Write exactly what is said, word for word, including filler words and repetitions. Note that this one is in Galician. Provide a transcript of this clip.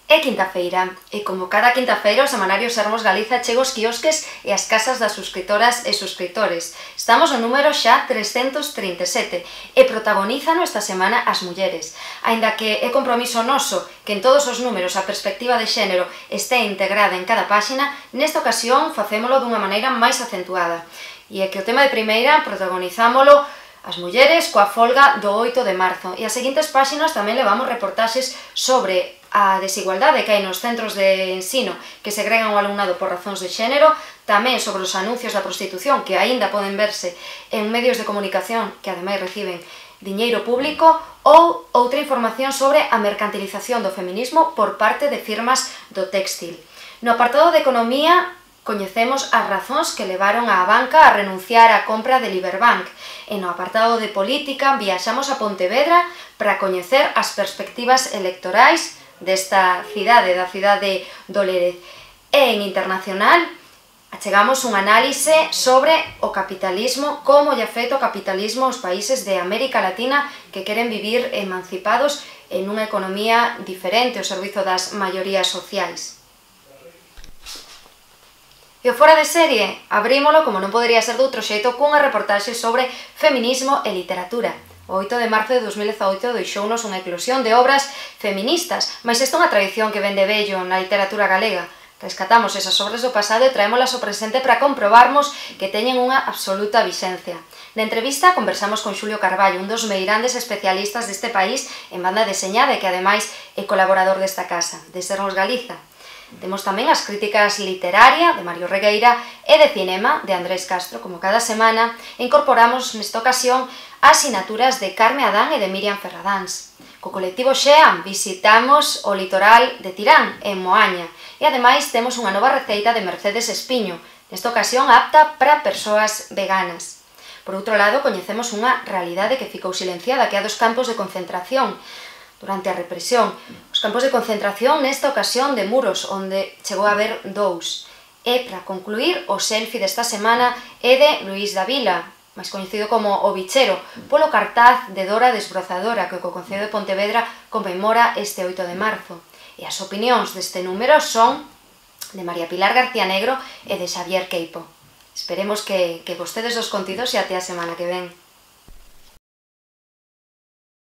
É quinta-feira, e como cada quinta-feira o semanario Sermos Galiza chega aos quiosques e ás casas das suscritoras e suscriptores. Estamos no número xa trescentos trinta e sete e protagonizan esta semana as mulleres. Aínda que é compromiso noso que en todos os números a perspectiva de xénero este integrada en cada páxina, nesta ocasión facémolo dunha maneira máis acentuada. E é que o tema de primeira protagonizámolo as mulleres coa folga do oito de marzo e as seguintes páxinas tamén levamos reportaxes sobre a desigualdade que hai nos centros de ensino que segregan o alumnado por razóns de xénero, tamén sobre os anuncios da prostitución que aínda poden verse en medios de comunicación que ademais reciben diñeiro público ou outra información sobre a mercantilización do feminismo por parte de firmas do téxtil. No apartado de economía coñecemos as razóns que levaron á banca a renunciar á compra de Liberbank e no apartado de política viaxamos a Pontevedra para coñecer as perspectivas electorais desta cidade, da cidade do Lérez. E en internacional achegamos un análise sobre o capitalismo, como lle afecta o capitalismo aos países de América Latina que queren vivir emancipados en unha economía diferente ao servizo das maiorías sociais. E o Fora de Serie abrímolo, como non podería ser de outro xeito, cunha reportaxe sobre feminismo e literatura. O oito de marzo de dos mil dezaoito deixounos unha eclosión de obras feministas, mas esta é unha tradición que ven de vello na literatura galega. Rescatamos esas obras do pasado e traémolas ao presente para comprobarmos que teñen unha absoluta vixencia. Na entrevista conversamos con Xulio Carballo, un dos meirandes especialistas deste país en banda deseñada e que ademais é colaborador desta casa, de Sermos Galiza. Temos tamén as críticas literaria de Mario Regueira e de cinema de Andrés Castro. Como cada semana, incorporamos nesta ocasión as sinaturas de Carme Adán e de Miriam Ferradáns. Co colectivo Xean visitamos o litoral de Tirán, en Moaña, e ademais temos unha nova receita de Mercedes Espiño, nesta ocasión apta para persoas veganas. Por outro lado, coñecemos unha realidade que ficou silenciada, que é a dos campos de concentración durante a represión. Os campos de concentración nesta ocasión de Muros, onde chegou a haber dous. E, para concluir, o selfie desta semana é de Luís Davila, máis coñecido como O Bichero, polo cartaz de Dora Desbrozadora, que o Concello de Pontevedra conmemora este oito de marzo. E as opinións deste número son de María Pilar García Negro e de Xavier Queipo. Esperemos que, que vostedes os contidos e até a semana que ven.